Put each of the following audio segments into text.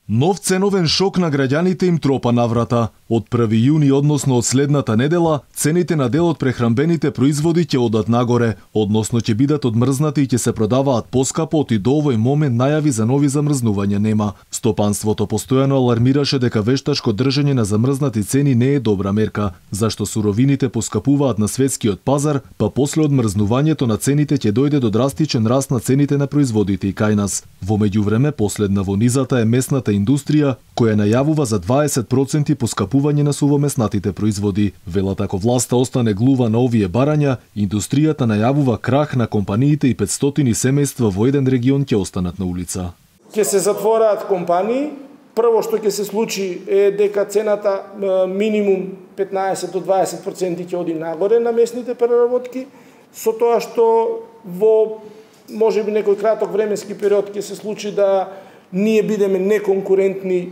Нов ценовен шок на граѓаните им тропа на врата. Од 1 јуни, односно од следната недела, цените на дел од прехранбените производи ќе одат нагоре, односно ќе бидат одмрзнати и ќе се продаваат поскапо, и до овој момент најави за нови замрзнувања нема. Стопанството постојано алармираше дека вештачко држење на замрзнати цени не е добра мерка, зашто суровините поскапуваат на светскиот пазар, па после одмрзнувањето на цените ќе дојде до драстичен раст на цените на производите и кај нас. Во меѓувреме, последна во низата е месната индустрија, која најавува за 20% поскапување на сувомеснатите производи. Велат ако власта остане глува на овие барања, индустријата најавува крах на компаниите и 500 семејства во еден регион ќе останат на улица. Ќе се затвораат компании. Прво што ќе се случи е дека цената минимум 15 до 20% ќе оди нагоре на месните преработки, со тоа што во можеби некој краток временски период ќе се случи да ние бидеме неконкурентни,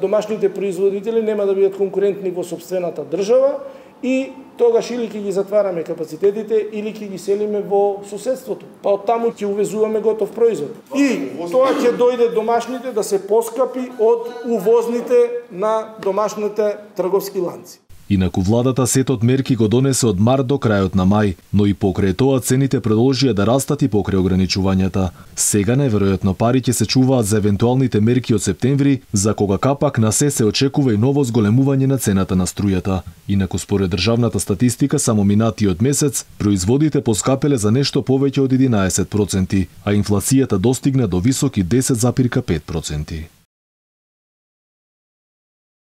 домашните производители нема да бидат конкурентни во сопствената држава и тогаш или ќе ги затвараме капацитетите или ќе ги селиме во соседството. Па од таму ќе увезуваме готов производ. И тоа ќе дојде домашните да се поскапи од увозните на домашните трговски ланци. Инаку владата сетот мерки го донесе од март до крајот на мај, но и покрај тоа цените продолжија да растат и покрај ограничувањата. Сега најверојатно пари ќе се чуваат за евентуалните мерки од септември, за кога капак на се очекува и ново зголемување на цената на струјата. Инаку според државната статистика само минатиот месец производите поскапеле за нешто повеќе од 11%, а инфлацијата достигна до високи 10,5%.